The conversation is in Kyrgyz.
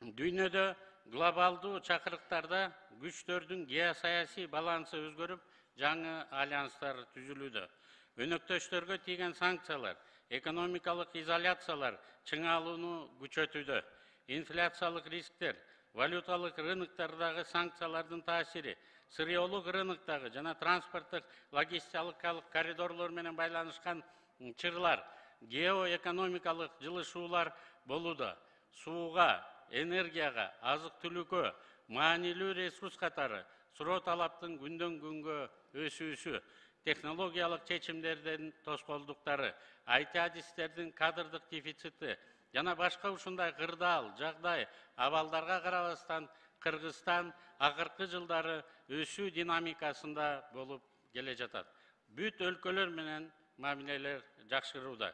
Дүйнөдө глобалдуу чакырыктарда күчтөрдүн геосаясий балансы өзгөрүп, жаңы альянстар түзүлүүдө. Өнөктөштөргө тийген санкциялар, экономикалык изоляциялар чыңалууну күчөтүүдө. Инфляциялык рисктер, валюталык рыноктардагы санкциялардын таасири, сырьеолук рыноктогу жана транспорттук логистикалык коридорлор менен байланышкан чырлар, геоэкономикалык жылышуулар болууда. Сууга, энергияга, азык-түлүккө, маанилүү ресурс катары суроо талаптын күндөн күнгө өсүүсү, технологиялык чечимдердин тоскоолдуктары, IT адистердин кадрдык дефицити жана башка ушундай кырдаал жагдай абалдарга карабастан Кыргызстан акыркы жылдары өсүү динамикасында болуп келе жатат. Бүт өлкөлөр менен мамилелер жакшырууда.